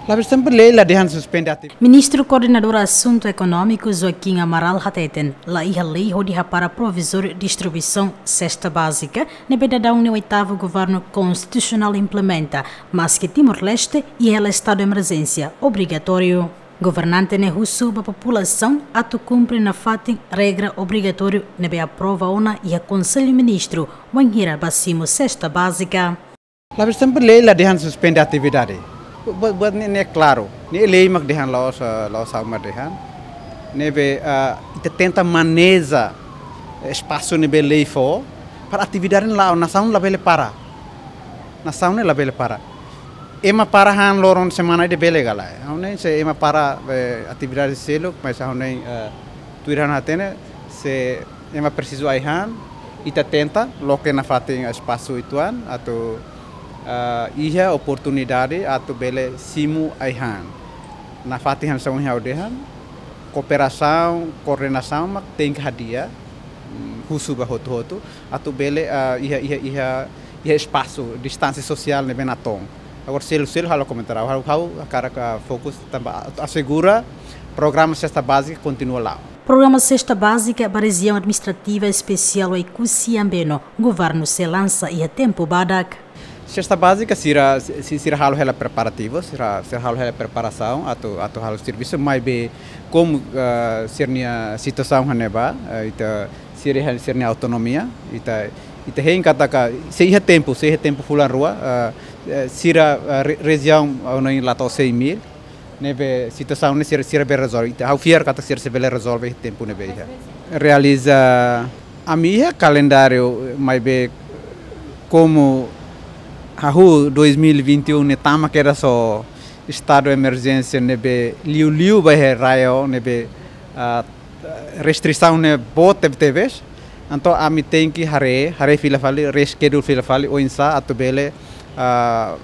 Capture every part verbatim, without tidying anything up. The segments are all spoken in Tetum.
Labele sempre lei la dehan suspende atividade. Ministru Koordenadór Asuntu Ekonómiku Joaquim Amaral hateten, la iha lei hodi hapara provizóriu distribuisaun sesta bázika, ne'ebé daudaun nia oitavu governu konstitusionál implementa, maske Timor-Leste iha hela estadu emerjénsia obrigatóriu. Governante ne'e husu ba populasaun atu kumpre nafatin regra obrigatóriu ne'ebé aprova ona iha Konsellu Ministru, wainhira ba simu sesta bázika. Labele sempre lei la dehan suspende atividade. Buat, buat ne'e, ne'e klaru. Ne'e lei mak dehan, la'ós, eh, la'ós ha'u mak dehan. Ne'ebé, eh, ita tenta maneja espasu ne'ebé lei fó para atividade la'o, nasaun labele para. Nasaun ne'e labele para. Ema para han loron semana ida bele ka lae. Ha'u hanoin se ema para, eh, atividade seluk, mas ha'u hanoin, eh, tuir ha'u hatene, se ema presiza ai-han, ita tenta loke nafatin espasu uitoan atu, eh, iha oportunidade atu bele simu ai-han. Nafatin hanesan ohin ha'u dehan, kooperasaun, koordenasaun mak tenke hadi'a, mm, husu ba hotu-hotu, atu bele, eh, iha, iha, iha, iha espasu, distánsia sosiál ne'ebé natoon. Agora, seluk-seluk halo komentáriu, ha'u, ha'u hakarak fokus tanba atu asegura programa sesta bázika kontinua la'o. Programa sesta bázika ba rejiaun administrativa espesiál Oekusi Ambeno, governu sei lansa iha tempu badak. Sesta bázika sira, si-, sira halo hela preparativu, sira, sira halo hela preparasaun atu, atu halo servisu, maibé komu, eh, sira-nia situasaun hanesan ne'ebá, eh, ita sira iha sira-nia autonomia, ita, ita hein katak se iha tempu, se iha tempu fulan rua, eh, eh, sira, eh, re-, rejiaun, eh, ha'u hanoin la to'o cem mil, ne'ebé situasaun ne'e sira, sira bele rezolve. Ita, ha'u fiar katak sira sei bele rezolve iha tempu ne'ebé iha. Realiza, ami iha kalendáriu, maibé komu hahú dois mil e vinte e um ne'e tama kedas ho estadu emerjénsia ne'ebé liuliu ba iha RAEOA ne'ebé, ah, restrisaun ne'e boot tebetebes. Entaun ami tenke haree, haree fila fali, reschedule fila fali, oinsá atu bele, ah,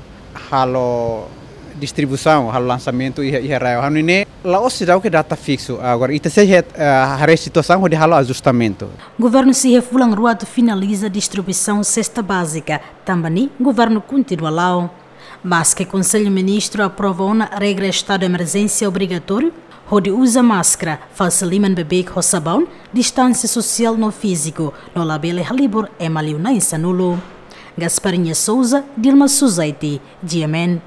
halo distribuisaun, halo lansamentu iha, iha RAEOA. Ha'u hanoin ne'e, la'ós seidauk iha data fiksu. Agora, ita sei het, ah, haree situasaun hodi halo ajustamentu. Governu sei iha fulan rua atu finaliza distribuisaun sesta bázika, tanba ne'e governu kontinua la'o. Maske Konsellu Ministru aprova ona regra estadu emerjénsia obrigatóriu, hodi uza máskara, fase liman beibeik ho sabaun, distánsia sosiál no fíziku, no labele halibur ema liu na'in-sanulu. Gasparinha Souza, Dilma Suzaiti, G M N.